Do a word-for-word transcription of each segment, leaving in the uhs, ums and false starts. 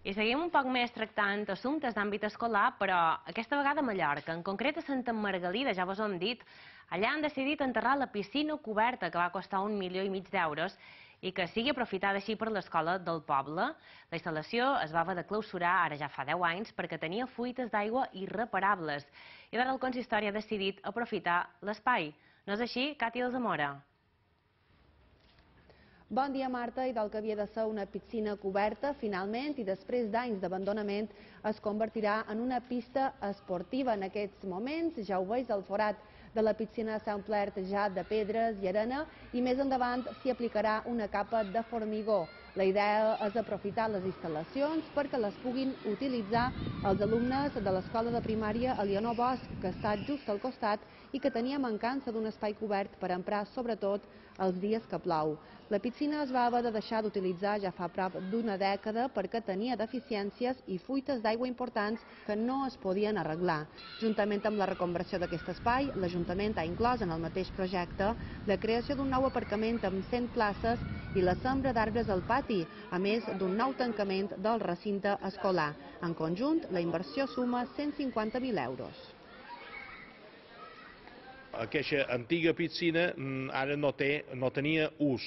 I seguim un poc més tractant assumptes d'àmbit escolar, però aquesta vegada a Mallorca, en concret a Santa Margalida, ja vos ho hem dit. Allà han decidit enterrar la piscina coberta, que va costar un milió i mig d'euros, i que sigui aprofitada així per l'escola del poble. La instal·lació es va haver de clausurar ara ja fa deu anys perquè tenia fuites d'aigua irreparables. I ara el consistori ha decidit aprofitar l'espai. No és així, Càtia de Zamora? Bon dia, Marta. I del que havia de ser una piscina coberta, finalment, i després d'anys d'abandonament, es convertirà en una pista esportiva. En aquests moments, ja ho veus, el forat de la piscina s'ha omplert ja de pedres i arena i més endavant s'hi aplicarà una capa de formigó. La idea és aprofitar les instal·lacions perquè les puguin utilitzar els alumnes de l'escola de primària Elionor Bosch, que està just al costat i que tenia mancança d'un espai cobert per emprar sobretot els dies que plou. La piscina es va haver de deixar d'utilitzar ja fa prop d'una dècada perquè tenia deficiències i fuites d'aigua importants que no es podien arreglar. Juntament amb la reconversió d'aquest espai, l'Ajuntament ha inclòs en el mateix projecte la creació d'un nou aparcament amb cent places i la sembra d'arbres al pati, a més d'un nou tancament del recinte escolar. En conjunt, la inversió suma cent cinquanta mil euros. Aquesta antiga piscina ara no, té, no tenia ús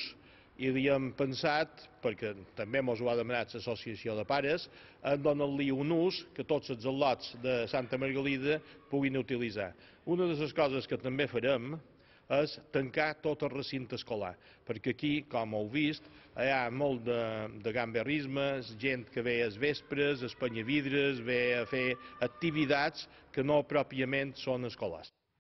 i havíem pensat, perquè també ens ho ha demanat l'associació de pares, en donar-li un ús que tots els al·lots de Santa Margalida puguin utilitzar. Una de les coses que també farem és tancar tot el recinte escolar, perquè aquí, com heu vist, hi ha molt de, de gamberrisme, gent que ve als vespres, a espanyar vidres, ve a fer activitats que no pròpiament són escolars.